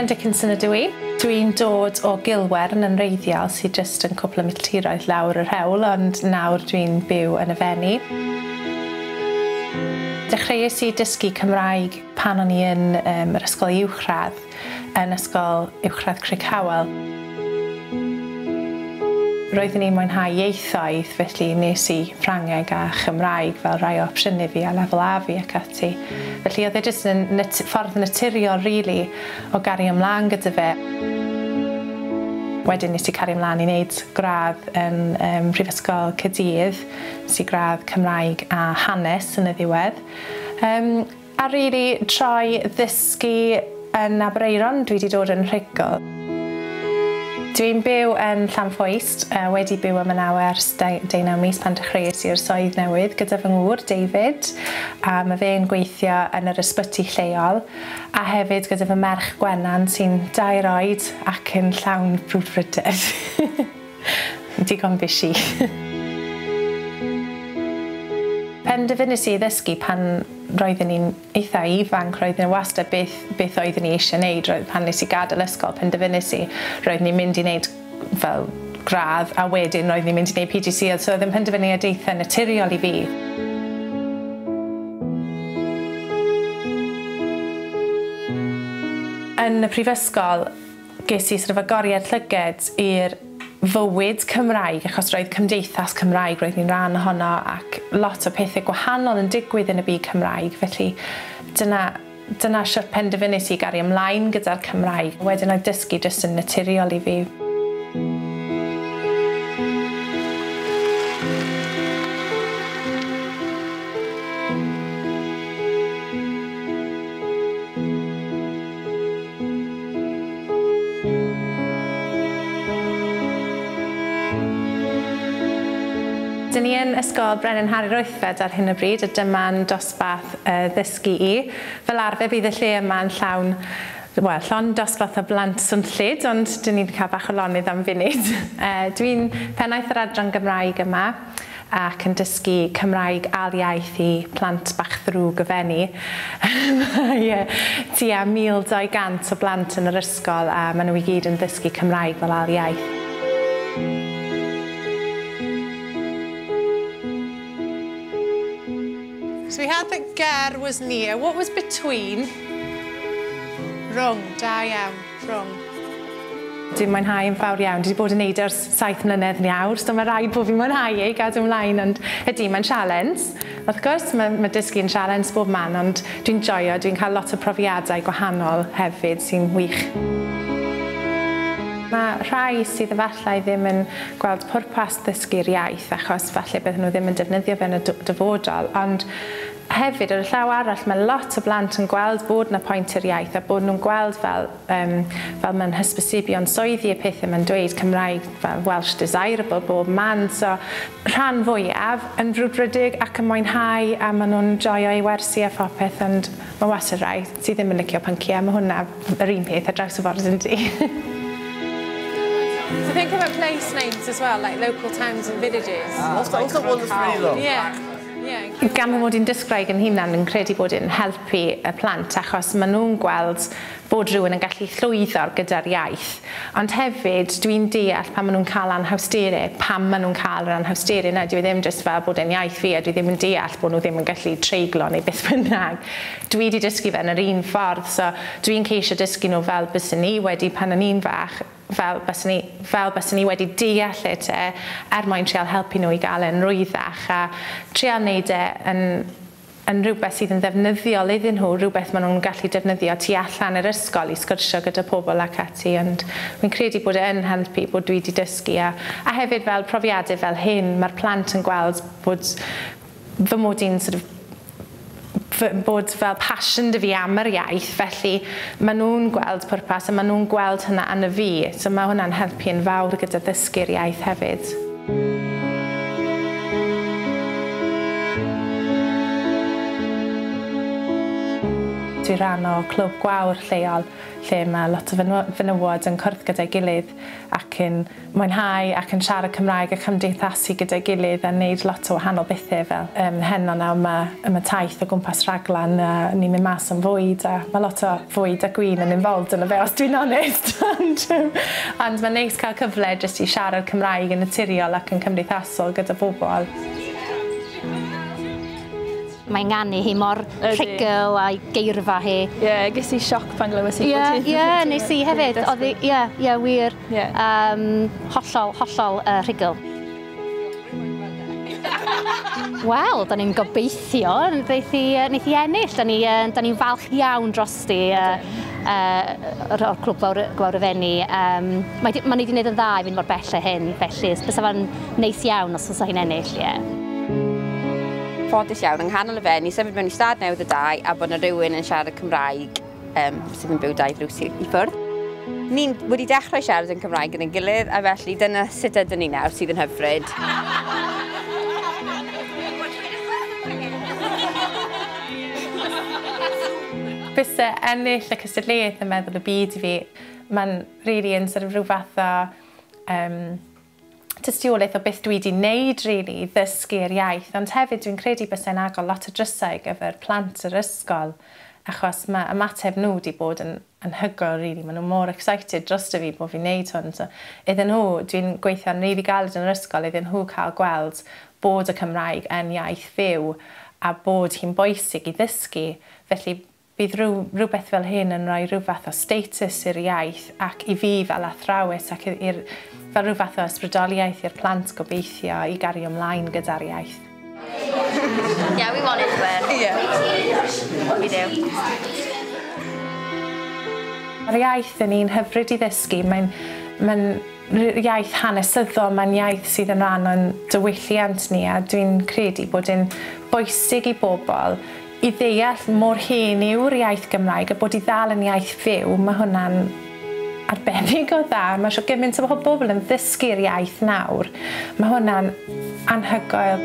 Rhian Dickinson ydw i. Dwi'n dod o Gilwern yn wreiddiol sydd jyst yn cwpl o milltiroedd lawr yr hewl, ond nawr dwi'n byw yn y Fenni. Dechreuais i dysgu Cymraeg pan o'n i yn yr ysgol uwchradd, yn ysgol uwchradd Crickhowell. Roeddwn i'n mwynhau ieithoedd, felly nes i Ffrangeg a Chymraeg fel rhai o opsiynau fi a lefel A fi ac ati. Felly oedd e jyst yn ffordd naturiol really o gario ymlaen gyda fe. Wedyn nes i cario ymlaen i wneud gradd yn Prifysgol Caerdydd, nes i gradd Cymraeg a Hanes yn y ddiwedd. A really troi ddysgu yn Aberaeron, dwi wedi dod yn rhugl. Dwi'n byw yn Llanfoist, wedi byw yma nawr ers 19 mis pan dechreuais i'r swydd newydd gyda fy ngŵr, David, a mae fe'n gweithio yn yr ysbyty lleol, a hefyd gyda fy merch Gwenan sy'n 2 oed ac yn llawn brwdfrydedd. Digon busy. Penderfynais i ddysgu pan roeddwn i'n eitha ifanc, roeddwn i wastad beth oeddwn i eisiau wneud. Pan nes i gadael ysgol, penderfynais i, roeddwn i'n mynd i wneud fel gradd, a wedyn roeddwn i'n mynd i wneud PGCE, so oedd yn penderfyniad eitha naturiol i fi. Yn y prifysgol, ges i sort of agoriad llyged i'r fywyd Cymraeg, achos roedd cymdeithas Cymraeg, roedd ni'n rhan ohono, ac lot o pethau gwahanol yn digwydd yn y byd Cymraeg, felly dyna sut penderfynais i gario ymlaen gyda'r Cymraeg. Wedyn oedd dysgu jyst yn naturiol i fi. Dyn ni yn Ysgol Brenin Harri'r Wythfed ar hyn o bryd, a dyma'n dosbarth ddysgu i. Fel arfer bydd y lle yma'n llawn, wel, llond dosbarth o blant swnllyd, ond dyn ni'n cael bach o lonydd am funud. Dwi'n pennaeth yr adran Gymraeg yma ac yn dysgu Cymraeg ail iaith i plant bach ddrwg y Fenni. Mae tua 1,200 o blant yn yr ysgol a maen nhw i gyd yn dysgu Cymraeg fel ail iaith. So we had that ger was near. What was between? Rhwng, da iawn, rhwng. Dwi'n mwynhau yn fawr iawn. Dwi wedi bod yn neud ers 7 mlynedd nawr, so mae rhaid bod fi'n mwynhau ei gadw ymlaen, ond ydy, mae'n sialens. Wrth gwrs, mae dysgu yn sialens bob man, ond dwi'n joio, dwi'n cael lot o profiadau gwahanol hefyd sy'n wych. Mae rhai sydd efallai ddim yn gweld pwrpas ddysgu'r iaith, achos falle bydden nhw ddim yn defnyddio fe yn y dyfodol, ond hefyd ar y llaw arall mae lot o blant yn gweld bod 'na pwynt i'r iaith a bod nhw'n gweld fel mae'n hysbysebion swyddi y pethau mae'n dweud Cymraeg fel Welsh desirable bob man, so rhan fwyaf yn frwdfrydig ac yn mwynhau a maen nhw'n joio eu wersi a phopeth, ond mae wastad rhai sydd ddim yn licio pynciau, mae hwnna yr un peth ar draws y ffordd yndi. So think about place names as well, like local towns and villages. What's that one that's really long? Yeah. Gan fy mod i'n dysgwraig yn hunan yn credu bod e'n helpu y plant achos maen nhw'n gweld bod rhywun yn gallu llwyddo gyda'r iaith. Ond hefyd dwi'n deall pan maen nhw'n cael anhawsterau, pam maen nhw'n cael yr anhawsterau yna. Dwi ddim jyst fel bod e'n iaith fi a dwi ddim yn deall bod nhw ddim yn gallu treiglo neu beth bynnag. Dwi wedi dysgu fe yn yr un ffordd, so dwi'n ceisio dysgu nhw fel byswn ni wedi pan o'n i'n fach, fel byswn ni wedi deall e te, er mwyn trial helpu nhw i gael e'n rwyddach a trial wneud e yn rhywbeth sydd yn ddefnyddiol iddyn nhw, rhywbeth maen nhw'n gallu defnyddio tu allan yr ysgol i sgwrsio gyda pobl ac ati, ond fi'n credu bod e yn helpu bod dwi wedi dysgu a hefyd fel profiadau fel hyn, mae'r plant yn gweld bod fy mod i'n sort of bod fel passion 'da fi am yr iaith, felly maen nhw'n gweld pwrpas a maen nhw'n gweld hynna yn y fi, so mae hwnna'n helpu yn fawr gyda ddysgu'r iaith hefyd. Dwi rhan o clwb gwawr lleol lle mae lot o fenywod yn cwrdd gyda'i gilydd ac yn mwynhau ac yn siarad Cymraeg a cymdeithasu gyda'i gilydd a wneud lot o wahanol bethau fel heno nawr mae taith o gwmpas Rhaglan a ni'n mynd mas am fwyd a mae lot o fwyd a gwin yn involved yn y fe os dwi'n onest. Ond mae'n neis cael cyfle jyst i siarad Cymraeg yn naturiol ac yn cymdeithasol gyda bobl. Mae'n nganu hi mor rhugl a'i geirfa hi. Ie, yeah, ges i sioc pan glywes i. Ie, nes i hefyd. Ie, ie, wir. Hollol, hollol rhugl. Wel, da ni'n gobeithio wneith hi ennill. Da ni'n falch iawn drosti o'r clwb Gwawr y Fenni. Mae ni wedi gwneud yn dda i fynd mor bell â hyn, felly bysa fo'n neis iawn os fysa hi'n ennill, ie. Ffodus iawn yng nghanol y Fenni, symud mewn i stad newydd y dau a bod yna rhywun yn siarad Cymraeg sydd yn byw 2 drws i ffwrdd. Ni'n wedi dechrau siarad yn Cymraeg yn ein gilydd a felly dyna sut ydyn ni nawr sydd yn hyfryd. Byse ennill y cystadleuaeth yn meddwl y byd i fi, mae'n really yn sort of rhyw fath o tystiolaeth o beth dwi wedi wneud, really, ddysgu'r iaith, ond hefyd dwi'n credu byse'n agor lot o drysau gyfer plant yr ysgol, achos mae ymateb nhw wedi bod yn anhygoel, really. Maen nhw mor excited drosto fi bod fi'n wneud hwn. So, iddyn nhw, dwi'n gweithio'n really galed yn yr ysgol, iddyn nhw cael gweld bod y Cymraeg yn iaith fyw a bod hi'n bwysig i ddysgu. Felly, bydd rhywbeth fel hyn yn rhoi rhyw fath o status i'r iaith ac i fi fel athrawes ac fel rhyw fath o ysbrydoliaeth i'r plant gobeithio i gario ymlaen gyda'r iaith. Yeah, we want it to win. Yeah. We do. Mae'r iaith yn un hyfryd i ddysgu. Mae'n iaith hanesyddol, mae'n iaith sydd yn rhan o'n diwylliant ni a dwi'n credu bod yn bwysig i bobl i ddeall mor hen yw'r iaith Gymraeg a bod i ddal yn iaith fyw, mae hwnna'n arbennig o dda. Mae eisiau gymaint o bobl yn ddysgu'r iaith nawr. Mae hwnna'n anhygoel.